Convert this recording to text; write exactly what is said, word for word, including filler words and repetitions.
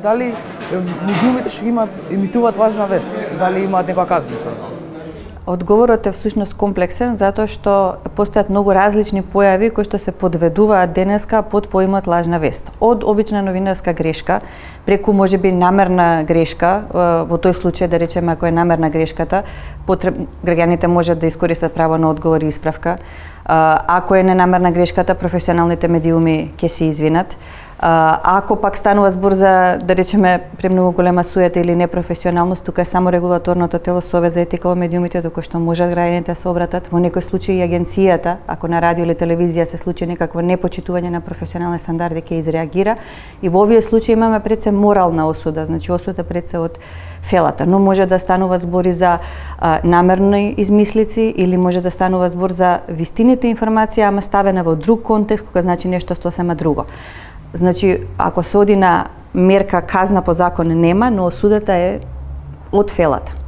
дали медиумите што имаат емитуваат лажна вест, дали имаат некоја казна за тоа? Одговорот е всушност комплексен затоа што постојат многу различни појави кои што се подведуваат денеска под поимот лажна вест. Од обична новинарска грешка, преку можеби намерна грешка, во тој случај да речеме ако е намерна грешката, потреб... граѓаните можат да искористат право на одговор и исправка. Ако е ненамерна грешката, професионалните медиуми ќе се извинат. Ако пак станува збор за, да речеме, премногу голема суета или непрофесионалност, тука е само регулаторното тело Совет за етика во медиумите, доколку што можат граѓаните да се обратат. Во некој случај и агенцијата, ако на радио или телевизија се случи некакво непочитување на професионални стандарди, ќе изреагира. И во овие случаи имаме пред се морална осуда, значи осуда пред се од фелата, но може да станува збори за а, намерни измислици или може да станува збор за вистините информација, ама ставена во друг контекст, кога значи нешто сосема друго. Значи, ако се оди на мерка казна по закон нема, но осудата е од фелата.